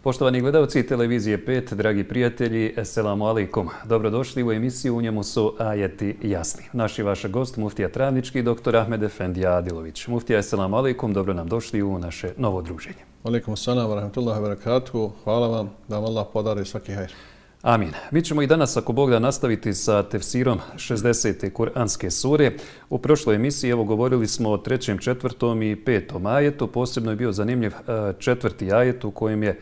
Poštovani gledalci televizije 5, dragi prijatelji, esselamu alaikum. Dobrodošli u emisiju, u njemu su ajeti jasni. Naš i vaš gost, muftija Travnički, dr. Ahmed Efendija Adilović. Muftija, esselamu alaikum, dobro nam došli u naše novo druženje. Alaikum salam, wa rahmatullahi wa barakatuhu. Hvala vam, da vam Allah podari svaki hajr. Amin. Mi ćemo i danas, ako Bog da, nastaviti sa tefsirom 60. Kur'anske sure. U prošloj emisiji govorili smo o 3., 4. i 5. ajetu. Posebno je bio zanimljiv 4. ajet u kojem je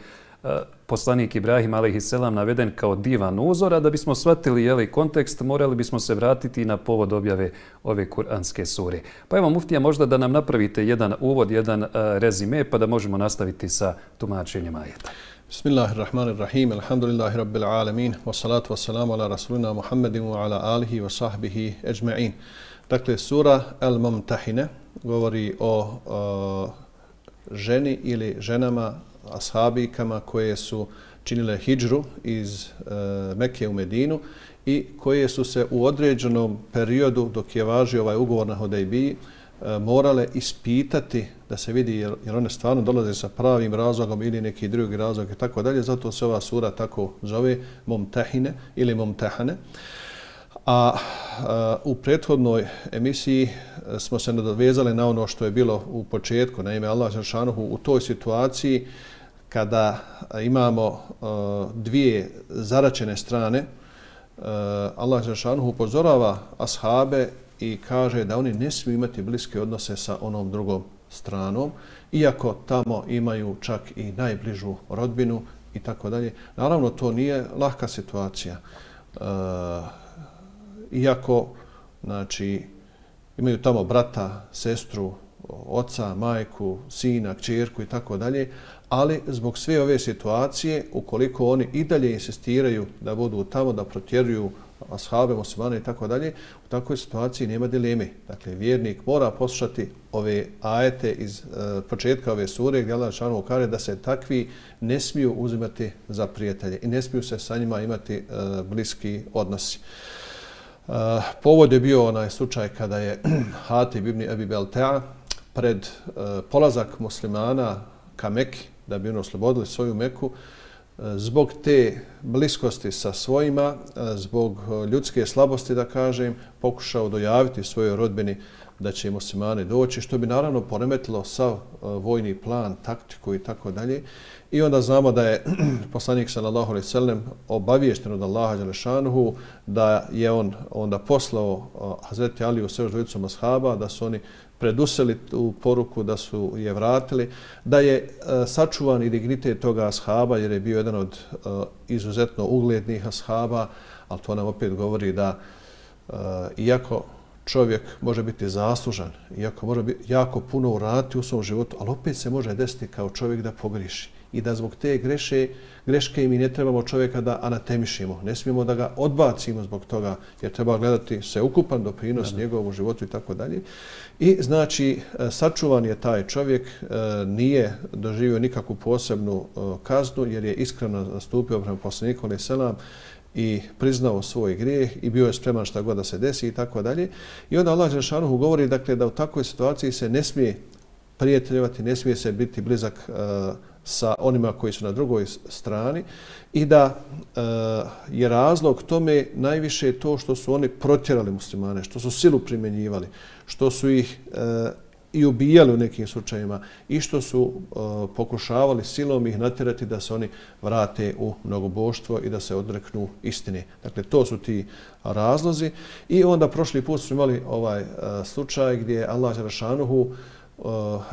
poslanik Ibrahim a.s. naveden kao divan uzor, a da bismo shvatili kontekst, morali bismo se vratiti na povod objave ove Kur'anske sure. Pa evo, muftija, možda da nam napravite jedan uvod, jedan rezime, pa da možemo nastaviti sa tumačenjem ajeta. Bismillahirrahmanirrahim, alhamdulillahi rabbil alamin, wassalatu wassalamu ala rasulina Muhammedin wa ala alihi wa sahbihi ejma'in. Dakle, sura Al-Mumtahine govori o ženi ili ženama, ashabikama koje su činile hidžru iz Mekke u Medinu i koje su se u određenom periodu, dok je važio ovaj ugovor na Hudejbiji, morale ispitati da se vidi jer one stvarno dolaze sa pravim razlogom ili neki drugi razlog i tako dalje. Zato se ova sura tako zove Mumtahine ili Mumtahane. A u prethodnoj emisiji smo se nadovezali na ono što je bilo u početku. Naime, Allah dželešanohu u toj situaciji kada imamo dvije zaračene strane, Allah dželešanohu upozorava ashabe i kaže da oni ne smiju imati bliske odnose sa onom drugom stranom, iako tamo imaju čak i najbližu rodbinu i tako dalje. Naravno, to nije lahka situacija. Iako, znači, imaju tamo brata, sestru, oca, majku, sina, kćerku i tako dalje, ali zbog sve ove situacije, ukoliko oni i dalje insistiraju da budu tamo, da protjeruju ashabe, muslimane i tako dalje, u takvoj situaciji nema dileme. Dakle, vjernik mora poslušati ove ajete iz početka ove sure gdje Allah dželešanohu kaže da se takvi ne smiju uzimati za prijatelje i ne smiju se sa njima imati bliski odnosi. Povod je bio onaj slučaj kada je Hatib ibn Abi Balta'a pred polazak muslimana ka Meki, da bi oslobodili svoju Meku, zbog te bliskosti sa svojima, zbog ljudske slabosti, da kažem, pokušao dojaviti svojoj rodbini da će muslimani doći, što bi naravno poremetilo sav vojni plan, taktiku i tako dalje. I onda znamo da je poslanik sallallahu alejhi ve sellem obaviješten od Allaha dželešanohu da je on onda poslao Hazreti Aliju sa još dvojicom ashaba, da su oni preduseli tu poruku, da su je vratili, da je sačuvan i dignitet toga ashaba jer je bio jedan od izuzetno uglednih ashaba, ali to nam opet govori da iako čovjek može biti zaslužan, iako može biti jako puno uraditi u svom životu, ali opet se može desiti kao čovjek da pogriši. I da zbog te greške mi ne trebamo čovjeka da anatemišimo. Ne smijemo da ga odbacimo zbog toga, jer treba gledati sveukupan doprinos njegovom životu i tako dalje. I znači, sačuvan je taj čovjek, nije doživio nikakvu posebnu kaznu, jer je iskreno nastupio prema poslaniku alejhi selam i priznao svoj grijeh i bio je spreman šta god da se desi i tako dalje. I onda Allah dželešanohu govori, dakle, da u takvoj situaciji se ne smije prijateljevati, ne smije se biti blizak sa onima koji su na drugoj strani i da je razlog tome najviše to što su oni protjerali muslimane, što su silu primjenjivali, što su ih i ubijali u nekim slučajima i što su pokušavali silom ih natjerati da se oni vrate u mnogoboštvo i da se odreknu istine. Dakle, to su ti razlozi. I onda prošli put smo imali ovaj slučaj gdje Allah dželešanohu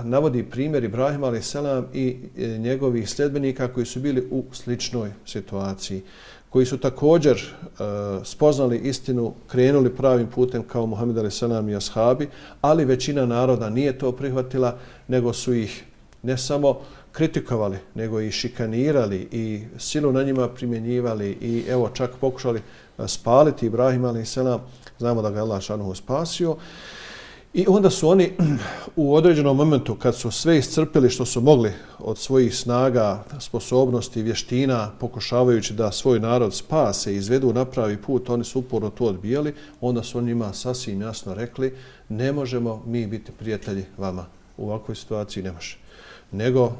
navodi primjer Ibrahima a.s. i njegovih sljedbenika koji su bili u sličnoj situaciji, koji su također spoznali istinu, krenuli pravim putem kao Muhammed a.s. i ashabi, ali većina naroda nije to prihvatila, nego su ih ne samo kritikovali, nego i šikanirali i silu na njima primjenjivali i evo čak pokušali spaliti Ibrahima a.s. znamo da ga je Allah šanuhu spasio. I onda su oni u određenom momentu, kad su sve iscrpili što su mogli od svojih snaga, sposobnosti, vještina, pokušavajući da svoj narod spase i izvedu na pravi put, oni su uporno to odbijali, onda su on njima sasvim jasno rekli ne možemo mi biti prijatelji vama. U ovakvoj situaciji ne može. Nego,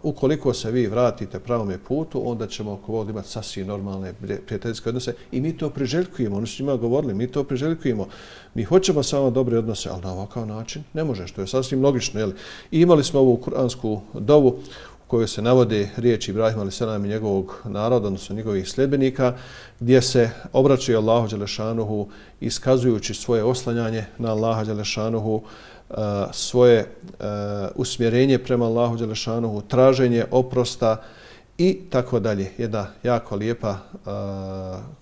ukoliko se vi vratite pravome putu, onda ćemo oko ovog imati sasvim normalne prijateljske odnose i mi to priželjkujemo. Oni su njima govorili, mi to priželjkujemo. Mi hoćemo samo dobre odnose, ali na ovakav način ne može, što je sasvim logično. Jeli? I imali smo ovu kuransku dovu u kojoj se navode riječi Ibrahima a.s. i njegovog naroda, odnosno njegovih sljedbenika, gdje se obraćaju Allahu dželešanuhu iskazujući svoje oslanjanje na Allaha dželešanuhu, svoje usmjerenje prema Allahu dželešanuhu, traženje oprosta i tako dalje. Jedna jako lijepa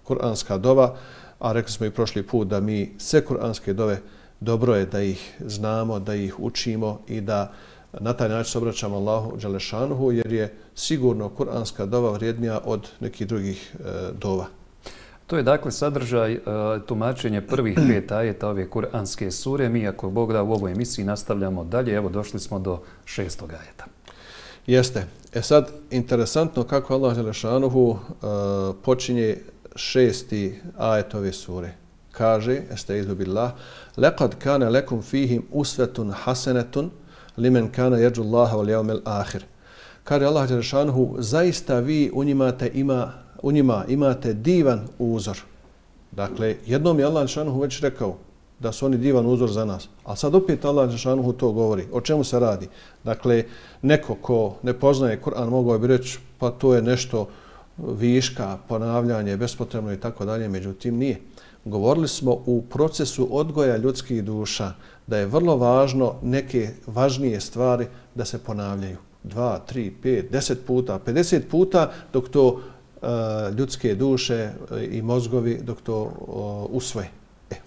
kuranska dova, a rekli smo i prošli put da mi sve kuranske dove dobro je da ih znamo, da ih učimo i da na taj način se obraćamo Allahu dželešanuhu, jer je sigurno kuranska dova vrijednija od nekih drugih dova. To je dakle sadržaj tumačenja prvih 5 ajeta ove kuranske sure. Mi, ako Bog da, u ovoj emisiji nastavljamo dalje. Evo, došli smo do 6. ajeta. Jeste. Sad, interesantno kako Allah dželešanuhu počinje 6. ajet ove sure. Kaže, estaizu billah, لَقَدْ كَانَ لَكُمْ فِيهِمْ أُسْوَةٌ حَسَنَةٌ لِمَنْ كَانَ يَرْجُ اللَّهَ وَالْيَوْمَ الْآخِرِ. Kaže Allah dželešanuhu, zaista vi u njima imate divan uzor. Dakle, jednom je Allah dželešanuhu već rekao da su oni divan uzor za nas. A sad opet Allah dželešanuhu to govori. O čemu se radi? Dakle, neko ko ne poznaje Kur'an mogao bi reći pa to je nešto viška, ponavljanje, bespotrebno i tako dalje. Međutim, nije. Govorili smo u procesu odgoja ljudskih duša da je vrlo važno neke važnije stvari da se ponavljaju. 2, 3, 5, 10 puta, 50 puta dok to ljudske duše i mozgovi dok to usvoje.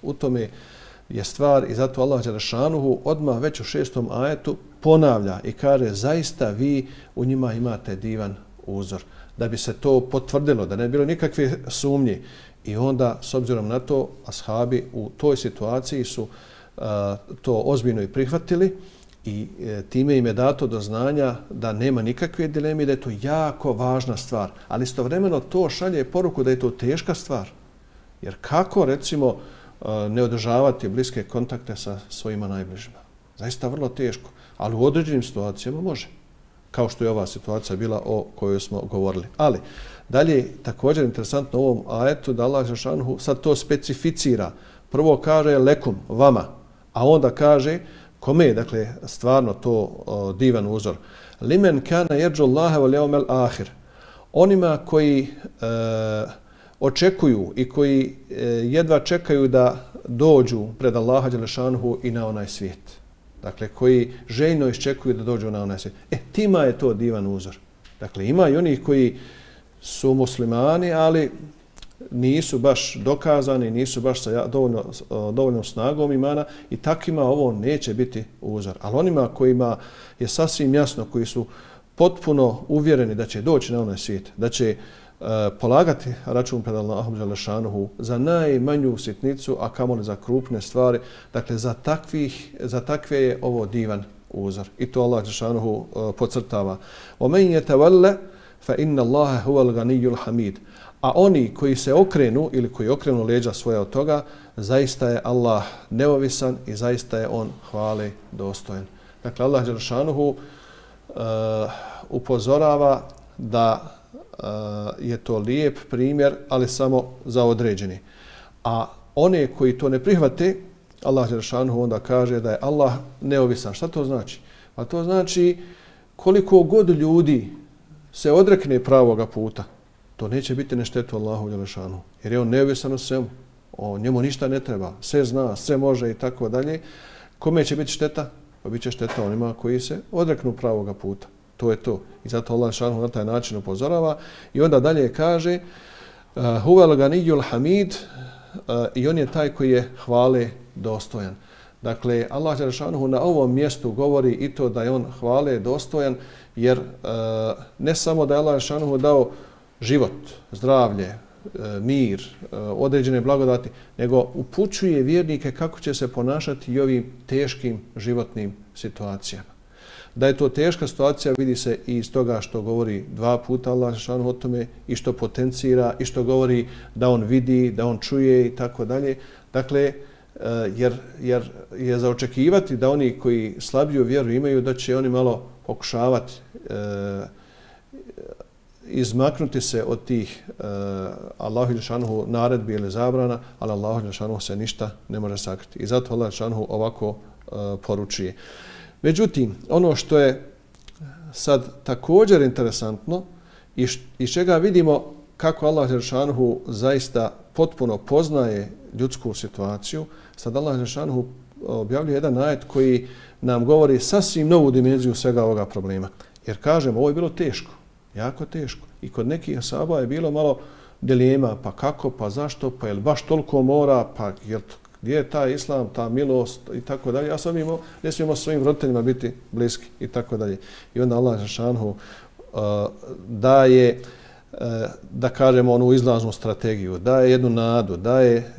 U tome je stvar i zato Allah dželešanuhu odmah već u 6. ajetu ponavlja i kaže zaista vi u njima imate divan uzor. Da bi se to potvrdilo, da ne bilo nikakve sumnje. I onda, s obzirom na to, ashabi u toj situaciji su to ozbiljno i prihvatili i time im je dato do znanja da nema nikakve dileme, da je to jako važna stvar. Ali istovremeno to šalje poruku da je to teška stvar. Jer kako, recimo, ne održavati bliske kontakte sa svojima najbližima? Zaista vrlo teško. Ali u određenim situacijama može. Kao što je ova situacija bila o kojoj smo govorili. Ali, dalje, također interesantno u ovom ajetu da Allah dželešanuhu sad to specificira. Prvo kaže lekum, vama, a onda kaže kome je, dakle, stvarno to divan uzor. Limen kana yerju Allaha wal yawmal akhir. Onima koji očekuju i koji jedva čekaju da dođu pred Allaha dželešanuhu i na onaj svijet. Dakle, koji željno iščekuju da dođu na onaj svijet. Tima je to divan uzor. Dakle, ima i onih koji su muslimani, ali nisu baš dokazani, nisu baš sa dovoljnom snagom imana i takvima ovo neće biti uzor. Ali onima kojima je sasvim jasno, koji su potpuno uvjereni da će doći na onaj svijet, da će polagati račun pred Allahom dželešanuhu za najmanju sitnicu, a kamoli za krupne stvari, dakle za takve je ovo divan uzor. I to Allah dželešanuhu podcrtava. وَمَنْ يَتَوَلَّ فَإِنَّ اللَّهَ هُوَ الْغَنِيُّ الْحَمِيدُ. A oni koji se okrenu ili koji okrenu leđa svoja od toga, zaista je Allah neovisan i zaista je on hvale dostojan. Dakle, Allah dželešanuhu upozorava da je to lijep primjer, ali samo za određeni. A one koji to ne prihvate, Allah dželešanuhu onda kaže da je Allah neovisan. Šta to znači? A to znači koliko god ljudi se odrekne pravoga puta, to neće biti na štetu Allahu dželešanuhu. Jer je on neovisan o svemu. Njemu ništa ne treba. Sve zna, sve može i tako dalje. Kome će biti šteta? Pa bit će šteta onima koji se odreknu pravoga puta. To je to. I zato Allah dželešanuhu na taj način upozorava. I onda dalje kaže Huvel ganiyul hamid, i on je taj koji je hvale dostojan. Dakle, Allah dželešanuhu na ovom mjestu govori i to da je on hvale dostojan, jer ne samo da je Allah dželešanuhu dao život, zdravlje, mir, određene blagodati, nego upućuje vjernike kako će se ponašati i ovim teškim životnim situacijama. Da je to teška situacija vidi se i iz toga što govori 2 puta Allah dželle o tome i što potencira i što govori da on vidi, da on čuje i tako dalje. Dakle, jer je za očekivati da oni koji slabiju vjeru imaju da će oni malo pokušavati izmaknuti se od tih Allahu dželle naredbi ili zabrana, ali Allahu dželle se ništa ne može sakriti. I zato Allah dželle ovako poručuje. Međutim, ono što je sad također interesantno i iz čega vidimo kako Allah dželle zaista potpuno poznaje ljudsku situaciju, sad Allah dželle objavljuje jedan ajet koji nam govori sasvim novu dimenziju svega ovoga problema. Jer kažemo, ovo je bilo teško, jako teško. I kod nekih ashaba je bilo malo dilema, pa kako, pa zašto, pa je li baš toliko mora, pa gdje je taj islam, ta milost i tako dalje. Ja sam ne smijemo svojim roditeljima biti bliski i tako dalje. I onda Allah dželle daje, da kažemo, onu izlaznu strategiju, daje jednu nadu, daje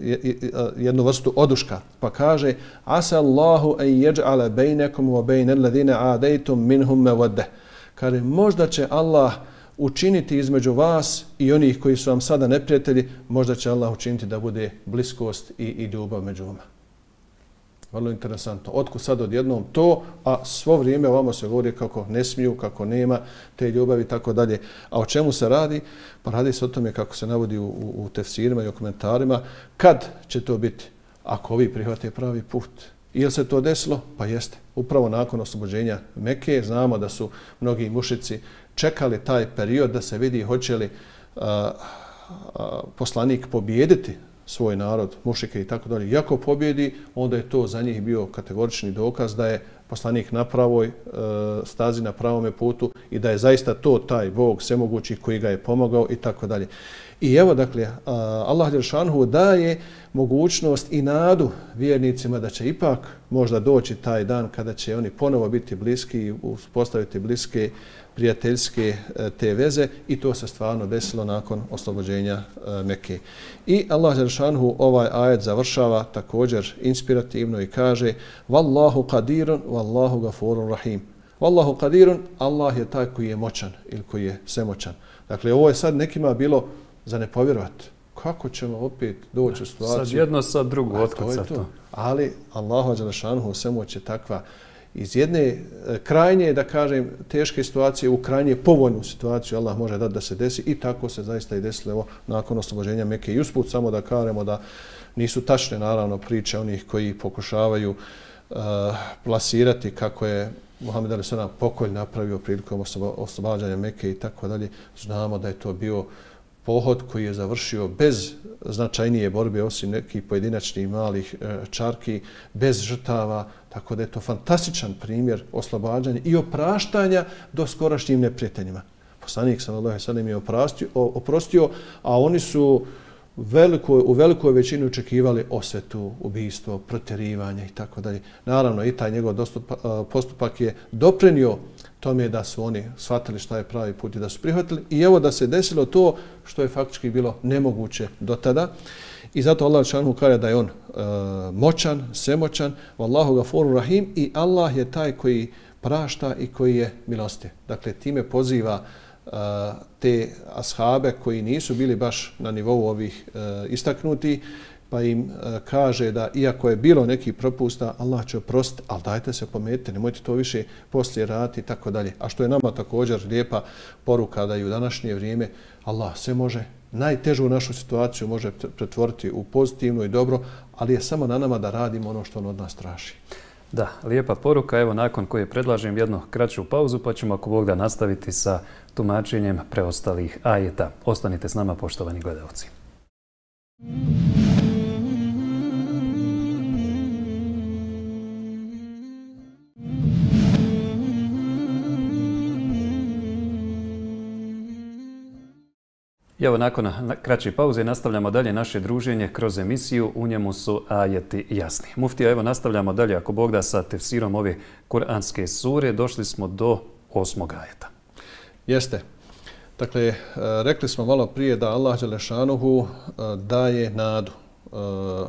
jednu vrstu oduška, pa kaže asa Allahu an yaj'ala bainakum wa bainal ladina adaytum minhum mawaddah. Kaže, možda će Allah učiniti između vas i onih koji su vam sada neprijatelji, možda će Allah učiniti da bude bliskost i ljubav među vama. Vrlo interesantno. Otkud sad odjednom to, a svo vrijeme ovamo se govori kako ne smiju, kako nema te ljubavi i tako dalje. A o čemu se radi? Pa radi se o tome kako se navodi u tefsirima i u komentarima. Kad će to biti? Ako ovi prihvate pravi put. Ili se to desilo? Pa jeste. Upravo nakon oslobođenja Mekke znamo da su mnogi mušici čekali taj period da se vidi hoće li poslanik pobijediti svoj narod, mušike i tako dalje. Iako pobjedi, onda je to za njih bio kategorični dokaz da je poslanik na pravoj stazi, na pravome putu i da je zaista to taj Bog svemogući koji ga je pomogao i tako dalje. I evo, dakle, Allah dželle daje mogućnost i nadu vjernicima da će ipak možda doći taj dan kada će oni ponovo biti bliski i uspostaviti bliske prijateljske te veze i to se stvarno desilo nakon oslobođenja Mekke. I Allah dželle ovaj ajet završava također inspirativno i kaže Wallahu qadirun, wallahu gafurur rahim. Wallahu qadirun, Allah je taj koji je moćan ili koji je svemoćan. Dakle, ovo je sad nekima bilo za ne povjerovati. Kako ćemo opet doći u situaciju? Sad jedno, sad drugo, otkud sad to? Ali Allahu dželle svemoć je takva iz jedne krajnje, da kažem, teške situacije u krajnje povoljnu situaciju Allah može dati da se desi i tako se zaista i desilo evo, nakon oslobođenja Mekke. I usput samo da kažemo da nisu tačne naravno priče onih koji pokušavaju plasirati kako je Muhammed a.s. pokolj napravio prilikom oslobađanja Mekke i tako dalje. Znamo da je to bio pohod koji je završio bez značajnije borbe osim nekih pojedinačnih malih čarki, bez žrtava, tako da je to fantastičan primjer oslobađanja i opraštanja do skorašnjim neprijateljima. Poslanik sallallahu alejhi ve sellem je oprostio, a oni su u velikoj većini očekivali osvetu, ubijstvo, protjerivanje i tako dalje. Naravno i taj njegov postupak je doprinio tome da su oni shvatili šta je pravi put i da su prihvatili. I evo da se desilo to što je faktički bilo nemoguće do tada. I zato Allah dželle kaže da je on moćan, svemoćan, wallahu gafurur rahim i Allah je taj koji prašta i koji je milostiv. Dakle, time poziva te ashabe koji nisu bili baš na nivou ovih istaknuti, pa im kaže da iako je bilo neki propusta, Allah će oprostiti, ali dajte se pometite, nemojte to više poslije raditi i tako dalje. A što je nama također lijepa poruka da i u današnje vrijeme Allah sve može, najtežu našu situaciju može pretvoriti u pozitivnu i dobro, ali je samo na nama da radimo ono što on od nas traži. Da, lijepa poruka. Evo nakon koje predlažem jednu kraću pauzu pa ćemo ako Bog da nastaviti sa tumačenjem preostalih ajeta. Ostanite s nama, poštovani gledalci. Evo nakon kraće pauze nastavljamo dalje naše druženje kroz emisiju. U njemu su ajeti jasni. Muftija, evo nastavljamo dalje ako Bog da sa tefsirom ove kuranske sure. Došli smo do 8. ajeta. Jeste. Dakle, rekli smo malo prije da Allah dželešanuhu daje nadu,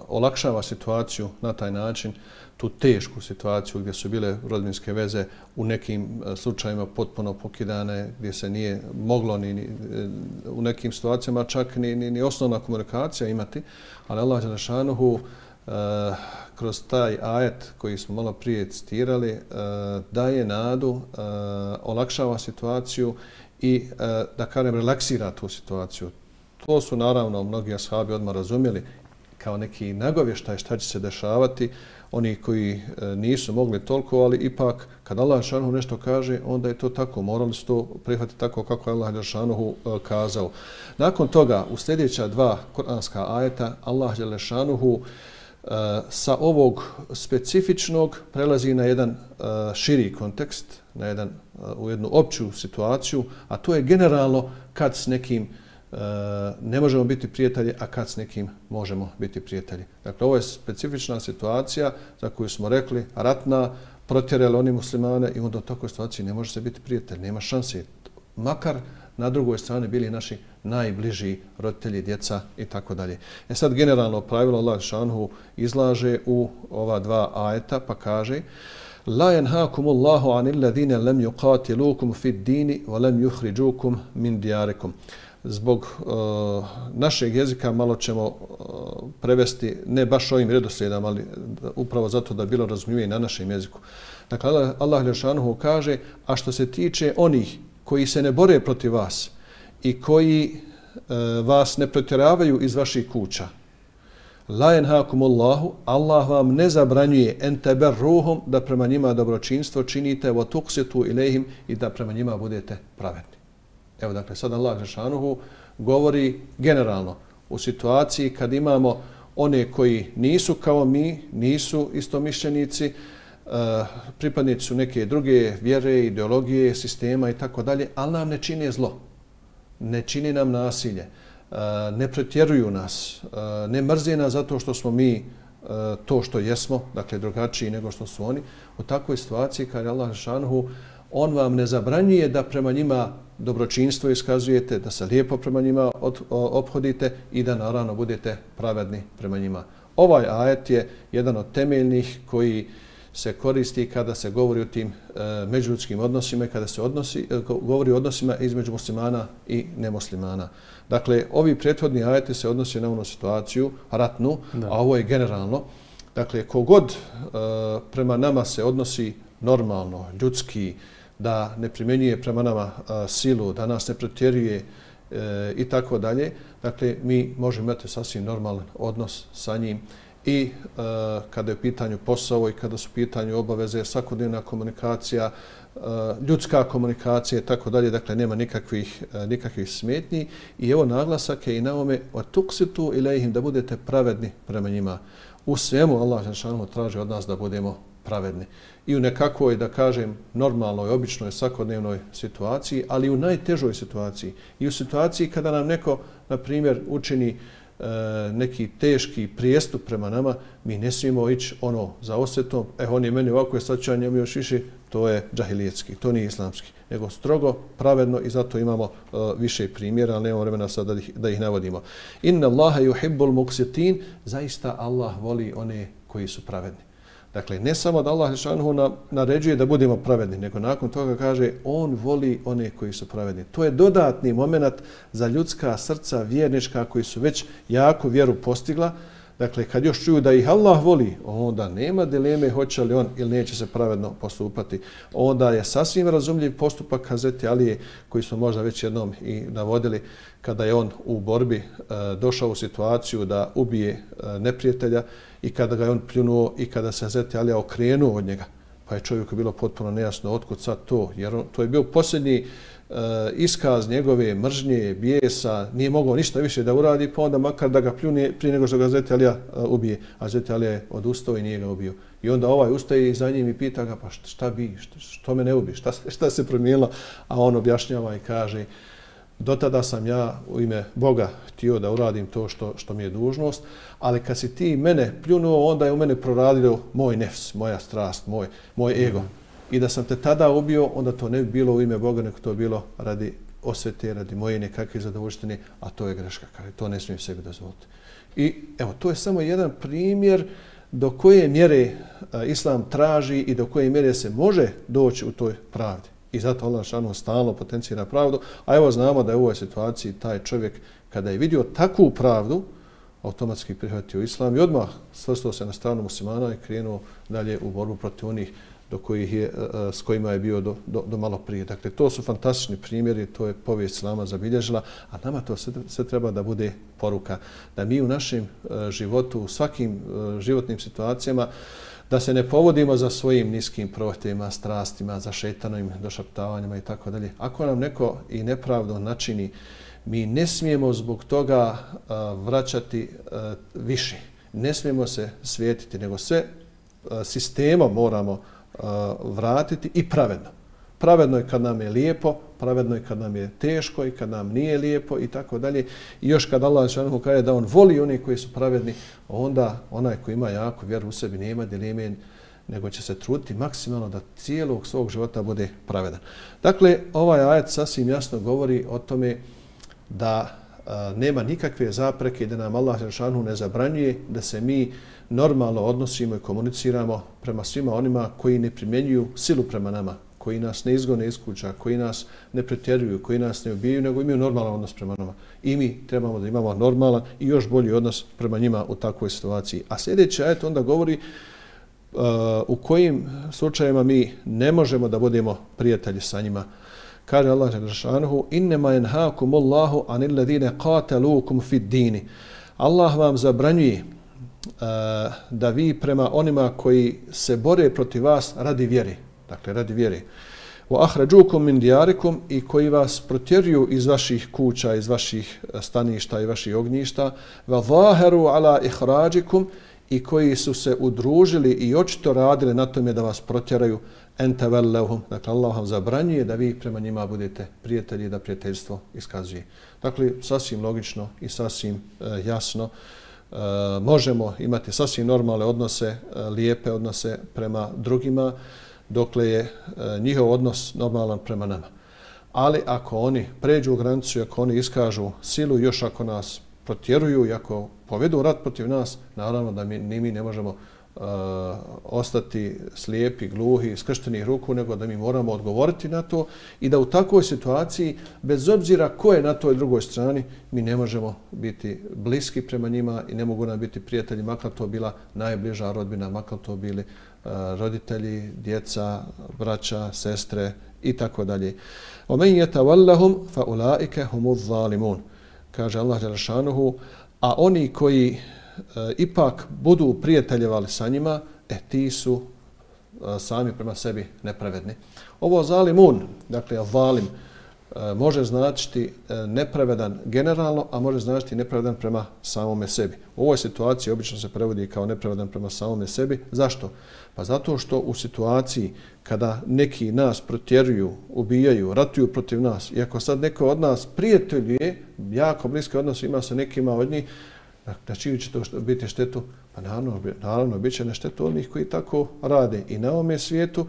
olakšava situaciju na taj način, tu tešku situaciju gdje su bile rodbinske veze u nekim slučajima potpuno pokidane, gdje se nije moglo ni u nekim situacijama čak ni osnovna komunikacija imati, ali Allah dželešanuhu kroz taj ajet koji smo malo prije citirali daje nadu, olakšava situaciju i da kažem relaksira tu situaciju. To su naravno mnogi ashabi odmah razumjeli kao neki nagovještaj šta će se dešavati, oni koji nisu mogli toliko, ali ipak kad Allah dželešanuhu nešto kaže, onda je to tako, morali su to prihvatiti tako kako je Allah dželešanuhu kazao. Nakon toga u sljedeća dva kuranska ajeta Allah dželešanuhu sa ovog specifičnog prelazi na jedan širi kontekst, u jednu opću situaciju, a to je generalno kad s nekim ne možemo biti prijatelji, a kad s nekim možemo biti prijatelji. Dakle, ovo je specifična situacija za koju smo rekli ratna, protjerali oni muslimane i onda u takvoj situaciji ne može se biti prijatelj, nema šanse. Makar na drugoj strani bili naši najbliži roditelji, djeca i tako dalje. Sad generalno pravilo Allah dželešanuhu izlaže u ova dva ajeta pa kaže: La yanhaakumullahu anil ladina lam yuqatilukum fid dini wa lam yukhrijukum min diyarikum. Zbog našeg jezika malo ćemo prevesti ne baš ovim redoslijedom, ali upravo zato da bilo razumljivije na našem jeziku. Dakle, Allah dželešanuhu kaže: a što se tiče onih koji se ne bore protiv vas i koji vas ne protjeravaju iz vaših kuća, la yanhaakumullahu, Allah vam ne zabranjuje en tabarruhum, da prema njima dobročinstvo činite, wa tuqsitu ilejhim, i da prema njima budete pravedni. Evo, dakle, sad Allah dželešanuhu govori generalno u situaciji kad imamo one koji nisu kao mi, nisu istomišljenici, pripadnici su neke druge vjere, ideologije, sistema i tako dalje, ali nam ne čine zlo, ne čini nam nasilje, ne pretjeruju nas, ne mrze nas zato što smo mi to što jesmo, dakle drugačiji nego što su oni. U takvoj situaciji kad je Allah dželešanuhu, on vam ne zabranjuje da prema njima dobročinstvo iskazujete, da se lijepo prema njima ophodite i da naravno budete pravedni prema njima. Ovaj ajet je jedan od temeljnih koji se koristi kada se govori o tim međuljudskim odnosima, kada se govori o odnosima između muslimana i nemuslimana. Dakle, ovi prethodni ajeti se odnose na onu situaciju ratnu, a ovo je generalno. Dakle, kogod prema nama se odnosi normalno, ljudski, da ne primjenjuje prema nama silu, da nas ne pretjeruje i tako dalje, dakle, mi možemo imati sasvim normalan odnos sa njim i kada je u pitanju posao i kada su u pitanju obaveze, svakodnevna komunikacija, ljudska komunikacija i tako dalje, dakle, nema nikakvih smetnji. I evo naglasak je i na ovome tuqsitu ilejhim, da budete pravedni prema njima. U svemu Allah dželešanuhu traži od nas da budemo pravedni. I u nekakvoj, da kažem, normalnoj, običnoj, svakodnevnoj situaciji, ali i u najtežoj situaciji. I u situaciji kada nam neko, na primjer, učini neki teški prijestup prema nama, mi ne smijemo ići za osvetom, on je meni ovako, sad ću ja njemu još više, to je džahilijetski, to nije islamski, nego strogo, pravedno, i zato imamo više primjera, ali nemamo vremena sad da ih navodimo. Inna Allaha yuhibbul muqsitin, zaista Allah voli one koji su pravedni. Dakle, ne samo da Allah dželešanuhu naređuje da budemo pravedni, nego nakon toga kaže on voli one koji su pravedni. To je dodatni moment za ljudska srca vjernička koji su već jako vjeru postigla. Dakle, kad još čuju da ih Allah voli, onda nema dileme hoće li on ili neće se pravedno postupati. Onda je sasvim razumljiv postupak Hazreti Alije, koji smo možda već jednom i navodili, kada je on u borbi došao u situaciju da ubije neprijatelja i kada ga je on pljunuo i kada se Hazreti Alija okrenuo od njega. Pa je čovjeku bilo potpuno nejasno otkud sad to, jer to je bio posljednji iskaz njegove mržnje, bijesa, nije mogao ništa više da uradi, pa onda makar da ga pljune prije nego što ga Hazreti Alija ubije. A Hazreti Alija je odustao i nije ga ubio. I onda ovaj ustaje za njim i pita ga, pa šta bi, što me ne ubije, šta se promijenilo? A on objašnjava i kaže, do tada sam ja u ime Boga htio da uradim to što mi je dužnost, ali kad si ti mene pljunuo, onda je u mene proradio moj nefs, moja strast, moj ego. I da sam te tada ubio, onda to ne bi bilo u ime Boga, nego to bilo radi osvete, radi moje nekakve zadovoljštine, a to je greška. Kaže, to ne smijem sebi dozvoliti. I evo, to je samo jedan primjer do koje mjere Islam traži i do koje mjere se može doći u toj pravdi. I zato Allah šanu stalno potencira pravdu. A evo znamo da je u ovoj situaciji taj čovjek kada je vidio takvu pravdu, automatski prihvatio Islam i odmah svrstao se na stranu muslimana i krenuo dalje u borbu protiv onih do kojih je, s kojima je bio do malo prije. Dakle, to su fantastični primjeri, to je povijest Islama zabilježila, a nama to sve treba da bude poruka. Da mi u našem životu, u svakim životnim situacijama, da se ne povodimo za svojim niskim prohtjevima, strastima, za šetanovim došaptavanjima i tako dalje. Ako nam neko i nepravdo načini, mi ne smijemo zbog toga vraćati više. Ne smijemo se svijetiti, nego sve sistemom moramo vratiti i pravedno. Pravedno je kad nam je lijepo, pravedno je kad nam je teško i kad nam nije lijepo i tako dalje. I još kad Allah dželle kaže da on voli oni koji su pravedni, onda onaj koji ima jako vjeru u sebi nema dileme, nego će se truditi maksimalno da cijelog svog života bude pravedan. Dakle, ovaj ajet sasvim jasno govori o tome da nema nikakve zapreke i da nam Allah dželle ne zabranjuje da se mi normalno odnosimo i komuniciramo prema svima onima koji ne primjenjuju silu prema nama, koji nas ne izgone iz kuća, koji nas ne pretjeruju, koji nas ne ubijaju, nego imaju normalan odnos prema nama. I mi trebamo da imamo normalan i još bolji odnos prema njima u takvoj situaciji. A sljedeći ajet onda govori u kojim slučajevima mi ne možemo da budemo prijatelji sa njima. Kaže Allah dželle innema yanhaakumullahu anil ladine qataluukum fid dini. Allah vam zabranjuje da vi prema onima koji se bore protiv vas radi vjere, dakle radi vjere, wa akhrajukum min diyarikum, i koji vas protjeruju iz vaših kuća, iz vaših staništa i vaših ognjišta, wa zaharu ala ikhrajikum, i koji su se udružili i očito radili na tome da vas protjeraju, en tawallahum, dakle Allah vam zabranjuje da vi prema njima budete prijatelji, da prijateljstvo iskazuje. Dakle, sasvim logično i sasvim jasno, možemo imati sasvim normalne odnose, lijepe odnose prema drugima, dokle je njihov odnos normalan prema nama. Ali ako oni pređu u granicu, ako oni iskažu silu, još ako nas protjeruju i ako povedu rat protiv nas, naravno da mi ne možemo ostati slijepi, gluhi, skrštenih ruku, nego da mi moramo odgovoriti na to i da u takvoj situaciji, bez obzira ko je na toj drugoj strani, mi ne možemo biti bliski prema njima i ne mogu nam biti prijatelji, makar to bila najbliža rodbina, makar to bili roditelji, djeca, braća, sestre i tako dalje. وَمَنْ يَتَوَلَّهُمْ فَأُولَٰئِكَ هُمُ الظَّالِمُونَ, kaže Allah dželle šanuhu, a oni koji ipak budu prijateljevali sa njima, ti su sami prema sebi nepravedni. Ovo zalimun, dakle zalim, može značiti nepravedan generalno, a može značiti nepravedan prema samome sebi. U ovoj situaciji obično se prevodi kao nepravedan prema samome sebi. Zašto? Pa zato što u situaciji kada neki nas protjeruju, ubijaju, ratuju protiv nas, i ako sad neko od nas prijateljuje, jako bliske odnose ima sa nekima od njih, na čiju će to biti štetu? Pa naravno bit će na štetu onih koji tako rade i na ovome svijetu,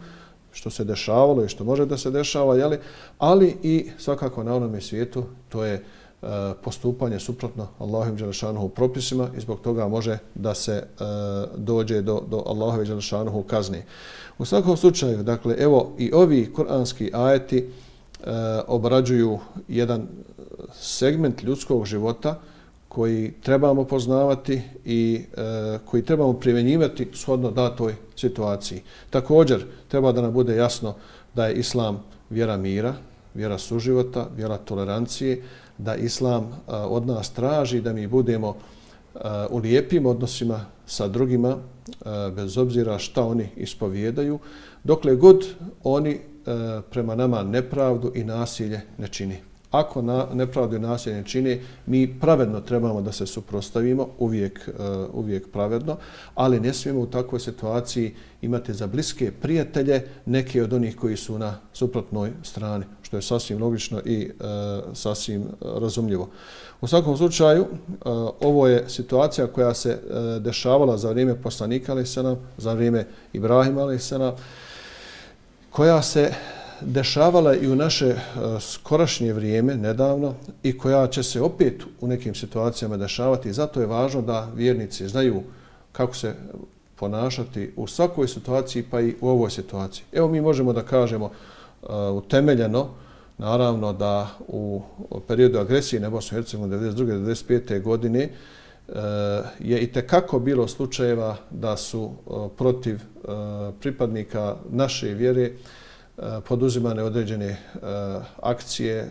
što se dešavalo i što može da se dešava, jeli? Ali i svakako na onome svijetu to je postupanje suprotno Allahovim dželle šanuhu propisima i zbog toga može da se dođe do Allahove dželle šanuhu kazne. U svakom slučaju, dakle, evo i ovi kuranski ajeti obrađuju jedan segment ljudskog života koji trebamo poznavati i koji trebamo primjenjivati shodno datoj situaciji. Također, treba da nam bude jasno da je Islam vjera mira, vjera suživota, vjera tolerancije, da Islam od nas traži da mi budemo u lijepim odnosima sa drugima, bez obzira šta oni ispovijedaju, dokle god oni prema nama nepravdu i nasilje ne čini. Ako nepravdu i nasilje ne čini, mi pravedno trebamo da se suprotstavimo, uvijek pravedno, ali ne smijemo u takvoj situaciji imati za bliske prijatelje neke od onih koji su na suprotnoj strani, što je sasvim logično i sasvim razumljivo. U svakom slučaju, ovo je situacija koja se dešavala za vrijeme poslanika, za vrijeme Ibrahima, koja se dešavala i u naše skorašnje vrijeme, nedavno, i koja će se opet u nekim situacijama dešavati. Zato je važno da vjernici znaju kako se ponašati u svakoj situaciji, pa i u ovoj situaciji. Evo mi možemo da kažemo utemeljeno, naravno da u periodu agresije na Bosnu i Hercegovinu 1992. 1995. godine je itekako bilo slučajeva da su protiv pripadnika naše vjere poduzimane određene akcije,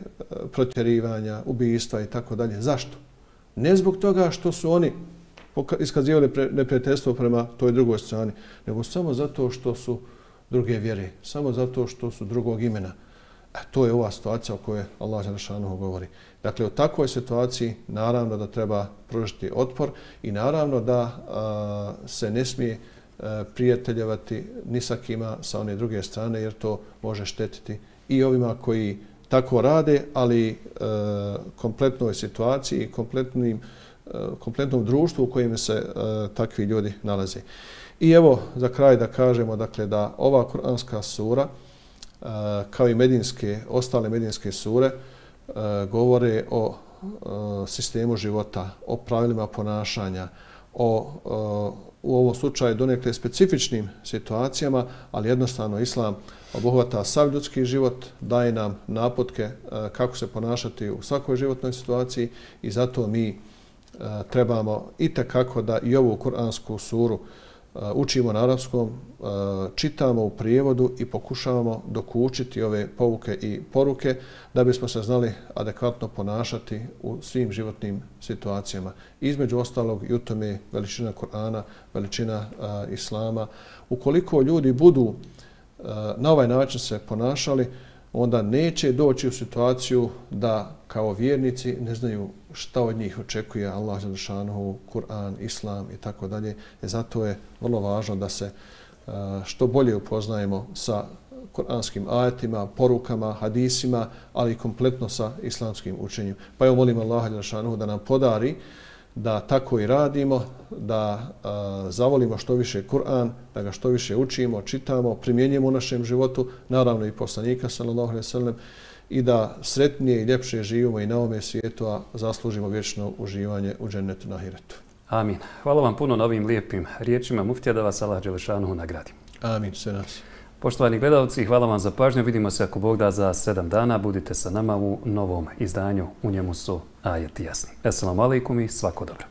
protjerivanja, ubijstva i tako dalje. Zašto? Ne zbog toga što su oni iskazivali neprijateljstvo prema toj drugoj strani, nego samo zato što su druge vjere, samo zato što su drugog imena. To je ova situacija o kojoj Allah dželešanohu govori. Dakle, u takvoj situaciji naravno da treba pružiti otpor i naravno da se ne smije prijateljevati ni sa kima sa one druge strane, jer to može štetiti i ovima koji tako rade, ali kompletnoj situaciji i kompletnom društvu u kojem se takvi ljudi nalaze. I evo za kraj da kažemo dakle, da ova kuranska sura kao i ostale medinske sure govore o sistemu života, o pravilima ponašanja, u ovom slučaju donekle specifičnim situacijama, ali jednostavno Islam obuhvata sav ljudski život, daje nam naputke kako se ponašati u svakoj životnoj situaciji i zato mi trebamo itekako da i ovu kuransku suru učimo na arapskom, čitamo u prijevodu i pokušavamo dokučiti ove pouke i poruke da bismo se znali adekvatno ponašati u svim životnim situacijama. Između ostalog i u tome veličina Kur'ana, veličina Islama. Ukoliko ljudi budu na ovaj način se ponašali, onda neće doći u situaciju da kao vjernici ne znaju šta od njih očekuje Allah dželešanohu, Kur'an, Islam i tako dalje. Zato je vrlo važno da se što bolje upoznajemo sa kuranskim ajetima, porukama, hadisima, ali i kompletno sa islamskim učenjem. Pa evo molim Allah dželešanohu da nam podari da tako i radimo, da zavolimo što više Kur'an, da ga što više učimo, čitamo, primjenjujemo u našem životu, naravno i poslanika sallallahu alejhi ve sellem, i da sretnije i ljepše živimo i na ovome svijetu, a zaslužimo vječno uživanje u džennetu na ahiretu. Amin. Hvala vam puno na ovim lijepim riječima muftija, da vas Allah dželešanohu nagradi. Amin, sve nas. Poštovani gledalci, hvala vam za pažnju. Vidimo se ako Bog da za 7 dana. Budite sa nama u novom izdanju. U njemu su ajeti jasni. Esselamu alejkum i svako dobro.